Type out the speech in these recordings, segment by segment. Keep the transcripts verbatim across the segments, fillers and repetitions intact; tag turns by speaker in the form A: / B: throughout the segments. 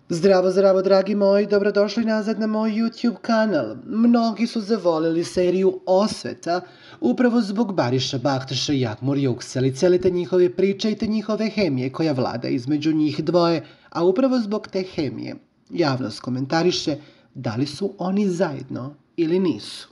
A: Zdravo, zdravo, dragi moji, dobrodošli nazad na moj YouTube kanal. Mnogi su zavolili seriju Osveta upravo zbog Bariša Baktaša i Jagmur Juksel i cijele te njihove priče i te njihove hemije koja vlada između njih dvoje, a upravo zbog te hemije javnost komentariše da li su oni zajedno ili nisu.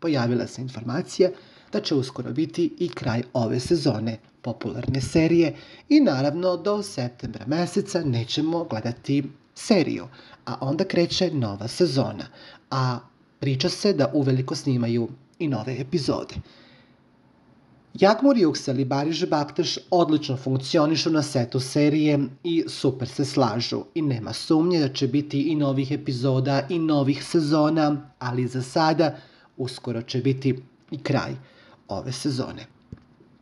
A: Pojavila se informacija da će uskoro biti i kraj ove sezone popularne serije i naravno do septembra meseca nećemo gledati seriju, a onda kreće nova sezona, a priča se da uveliko snimaju i nove epizode. Jagmur Juksel i Bariš Baktaš odlično funkcionišu na setu serije i super se slažu i nema sumnje da će biti i novih epizoda i novih sezona, ali za sada uskoro će biti i kraj ove sezone.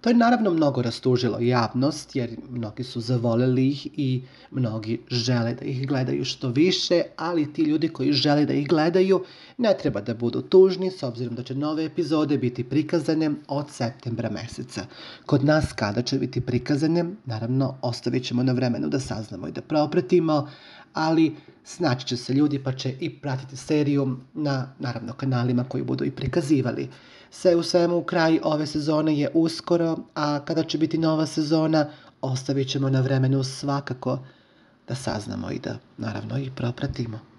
A: To je naravno mnogo rastužilo javnost jer mnogi su zavoleli ih i mnogi žele da ih gledaju što više, ali ti ljudi koji žele da ih gledaju ne treba da budu tužni s obzirom da će nove epizode biti prikazane od septembra meseca. Kod nas kada će biti prikazane, naravno ostavit ćemo na vremenu da saznamo i da propratimo, ali snaći će se ljudi pa će i pratiti seriju na naravno kanalima koji budu i prikazivali. Sve u svemu kraj ove sezone je uskoro, a kada će biti nova sezona ostavit ćemo na vremenu svakako da saznamo i da naravno i propratimo.